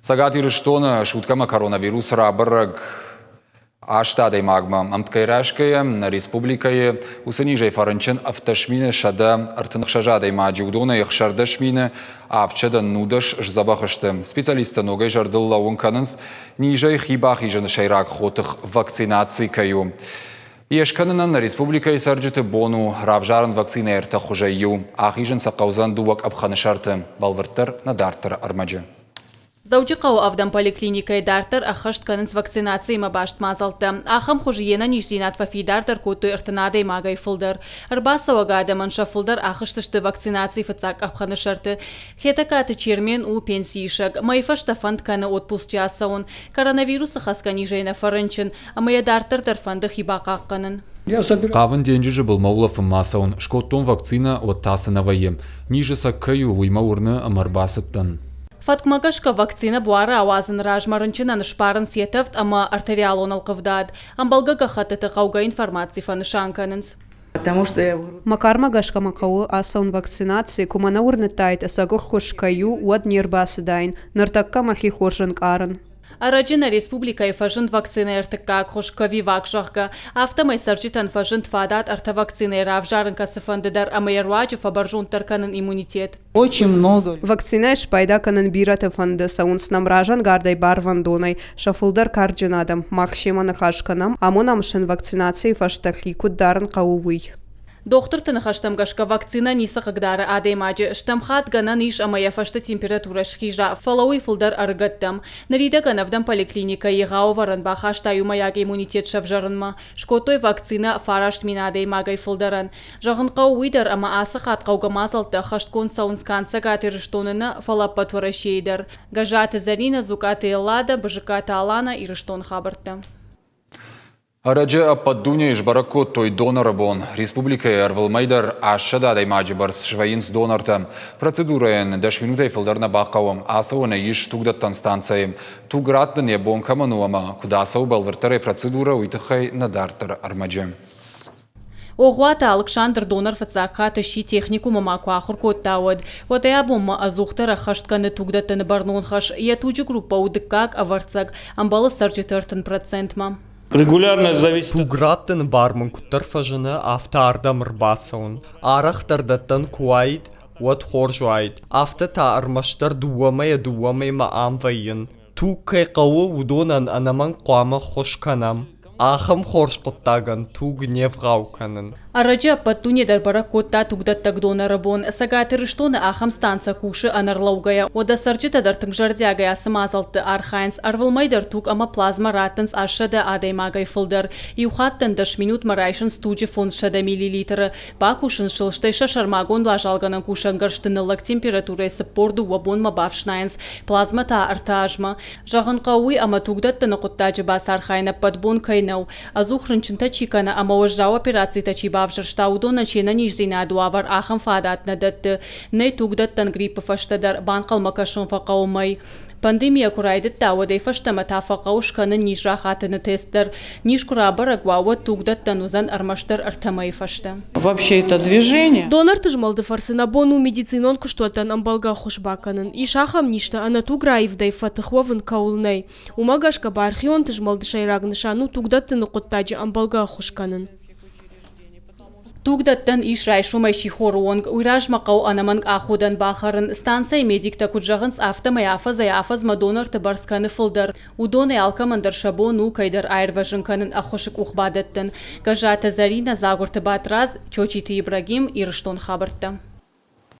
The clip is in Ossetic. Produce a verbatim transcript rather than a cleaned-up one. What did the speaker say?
Цӕгат Ирыстоны суткӕмӕ коронавирус рабӕрӕг аст адӕймагмӕ. Ӕмткӕй райсгӕйӕ, нӕ республикӕйы уыцы низӕй фӕрынчын ӕвддӕс мины сӕдӕ ӕртын ӕхсӕз адӕймаджы, уыдонӕй ӕхсӕрдӕс мины авдсӕдӕ нудӕс сдзӕбӕх сты. Специалисттӕ ногӕй зӕрдыл лӕууын кӕнынц, низӕй хи бахизыны сӕйраг хотых вакцинаци кӕй у. Йе скӕнынӕн нӕ республикӕйы цӕрджыты бон у равзарын вакцинӕйы ӕртӕ хуызӕй иу. Ахизын сӕ хъӕудзӕн дыууӕ къӕпхӕны сӕрты. Бӕлвырддӕр нӕ дарддӕры ӕрмӕджы. Дзӕуджыхъӕуы ӕвдӕм поликлиникӕйы дарддӕр ӕххӕст кӕнынц вакцинациимӕ баст мадзӕлттӕ. Ахӕм хуызы йе нӕниздзинад фӕфидардӕр кодтой ӕртын адӕймагӕй фылдӕр. Ӕрбацӕуӕг адӕмӕн сӕ фылдӕр ахызтысты вакцинацийы фыццаг къӕпхӕны сӕрты. Хетӕгкаты Чермен у пенсиисӕг. Мӕйы фӕстӕ фӕнд кӕны отпусчы ацӕуын. Коронавирусы хӕцгӕ низӕй нӕ фӕрынчын ӕмӕ йӕ дарддӕр дӕр фӕнды хи бахъахъхъӕнын. Хъавын денджызы былмӕ улӕфынмӕ ацӕуын. Скодтон вакцинӕ, уӕд та цы нӕ вӕййы. Низы цӕг кӕй у, уый мӕ уырны ӕмӕ ӕрбацыдтӕн. Фӕткмӕ гӕсгӕ вакцинӕ буары ауадзыны размӕ рынчынӕн сбарынц йӕ тӕвд ӕмӕ артериалон ӕлхъывдад. Ӕмбӕлгӕ гӕххӕттыты хъӕугӕ информаци фӕнысан кӕнынц. Мӕ кармӕ гӕсгӕ мӕ хъӕуы ацӕуын вакцинаци, куы мӕ нӕ уырныдтаид, ӕцӕг ӕххуыс кӕй у, уӕд не рбацыдаин. Ныртӕккӕ мӕхи хорз ӕнкъарын. Ӕрӕджы нӕ республикӕйы фӕзынд вакцинӕйы ӕртыккаг хуыз Ковивак, зӕгъгӕ. Афтӕмӕй цӕрджытӕн фӕзынд фадат ӕртӕ вакцинӕйы равзарын кӕцыфӕнды дӕр ӕмӕ йӕ руаджы фӕбӕрзонддӕр кӕнын иммунитет. Очень много. Вакцинӕйӕ спайда кӕнын бирӕты фӕнды, цӕуынц нӕм разӕнгардӕй барвӕндонӕй, сӕ фылдӕр карджын адӕм. Мах семӕ ныхас кӕнӕм, амонӕм сын вакцинацийы фӕстӕ хи куыд дарын хъӕуы, уый. Дохтырты ныхӕстӕм гӕсгӕ вакцинӕ ницы хъыгдары адӕймаджы. Стӕм хатт гӕнӕн ис ӕмӕ йӕ фӕстӕ температурӕ схиза, фӕлӕ уый фылдӕр ӕрыгӕттӕм. Ныридӕгӕн ӕвдӕм поликлиникӕ егъау ӕвӕрӕн бахаста иумӕйаг иммунитет сӕвзӕрынмӕ. Скодтой вакцинӕ фараст мин адӕймагӕй фылдӕрӕн. Зӕгъын хъӕуы уый дӕр, ӕмӕ ацы хатт хъӕугӕ мадзӕлттӕ ӕххӕстгонд цӕуынц канд Цӕгат Ирыстоны нӕ, фӕлӕ ӕппӕт Уӕрӕсейы дӕр. Гӕззаты Зӕринӕ, Дзукъаты Эллада, Бызыккаты Алана, Ирыстоны хабӕрттӕ. Ӕрӕджы ӕппӕт дунейы сбӕрӕг кодтой доноры бон. Республикӕйы ӕрвылмӕй дӕр астсӕдӕ адӕймаджы бӕрц свӕййынц донортӕ. Процедурӕйӕн дӕс минутӕй фылдӕр нӕ бахъӕуы. Ацӕуӕн ис тугдӕттӕн станцӕйы. Туг раттын йӕ бон кӕмӕн у ӕмӕ куыд ацӕуы бӕлвырддӕрӕй процедурӕ, уый тыххӕй нӕ дарддӕры ӕрмӕджы. Огъуаты Алыксандр донор фыццаг хатт сси, техникумы ма куы ахуыр кодта, уӕд. Уӕдӕй абонмӕ ӕдзухдӕр ӕххӕст кӕны тугдӕттыны бӕрнон хӕс. Йӕ туджы группӕ у дыккаг, ӕвӕрццаг, ӕмбӕлы цӕрджыты ӕртын процентмӕ. Регулярно зависит. Туг раттыны бар мын куыддӕр фӕзыны, афтӕ ардӕм ӕрбацӕуын. Арӕхдӕр дӕттӕн куы уаид, уӕд хорз уаид. Афтӕ та ӕрмӕстдӕр дыууӕ мӕйӕ дыууӕ мӕймӕ ам вӕййын. Туг кӕй хъӕуы, уыдонӕн ӕнӕмӕнг хъуамӕ ӕххуыс кӕнӕм. Ахӕм хорз хъуыддагӕн туг не вгъау кӕнын. Ӕрӕджы ӕппӕт дуне дӕр бӕрӕг кодта тугдӕттӕг доноры бон. Цӕгат Ирыстоны ахӕм станцӕ кусы ӕнӕрлӕугӕйӕ. Уӕдӕ цӕрджытӕ дӕр тынг зӕрдиагӕй ацы мадзӕлтты архайынц. Ӕрвылмӕй дӕр туг ӕмӕ плазмӕ раттынц астсӕдӕ адӕймагӕй фылдӕр. Иу хаттӕн дӕс минутмӕ райсынц туджы фондзсӕдӕ миллилитры. Бакусынц сыл, стӕй сӕ сӕрмагонд уазалгӕнӕн кусӕнгӕрзты ныллӕг температурӕйы цыппор дыууӕ бонмӕ бафснайынц, плазмӕ та ӕртӕ азмӕ. Зӕгъын хъӕуы уый, ӕмӕ тугдӕттыны хъуыддаджы бацархайын ӕппӕт бон кӕй нӕу. Ӕдзух рынчынтӕ чи кӕны ӕмӕ уӕззау операцитӕ чи бавзӕрста, уыдонӕн се нӕниздзинады уавӕр ахӕм фадат нӕ дӕтты. Нӕй тугдӕттӕн гриппы фӕстӕ дӕр, банхъӕлмӕ кӕсын фӕхъӕуы мӕй. Пандемия куы райдыдта, уӕдӕй фӕстӕмӕ та фӕхъӕуы скӕнын низ рахатыны тест дӕр. Низ куы рабӕрӕг уа, уӕд тугдӕттӕн уыдзӕн ӕрмӕстдӕр ӕртӕ мӕйы фӕстӕ. Вообще это движение. Донорты змӕлды фӕрцы нӕ бон у медицинон куыстуӕттӕн ӕмбӕлгӕ ӕххуыс бакӕнын. Ис ахӕм низтӕ, ӕнӕ туг раивдӕй фӕтых уӕвын кӕуыл нӕй. Уымӕ гӕсгӕ бархионты змӕлды сӕйраг нысан у тугдӕттыны хъуыддаджы ӕмбӕлгӕ ӕххуыс кӕнын. Тугдӕттӕн ис райсомӕй сихоры онг. Уый размӕ хъӕуы ӕнӕмӕнг аходӕн бахӕрын. Станцӕйы медиктӕ куыд зӕгъынц, афтӕмӕй афӕдзӕй афӕдзмӕ донорты бӕрц кӕны фылдӕр. Уыдонӕй алкӕмӕн дӕр сӕ бон у кӕйдӕр аирвӕзын кӕнын, ӕххуысы къух бадӕттын. Гӕззаты Зӕринӕ, Дзагуырты Батрадз, Чочиты Ибрагим, Ирыстон хабӕрттӕ.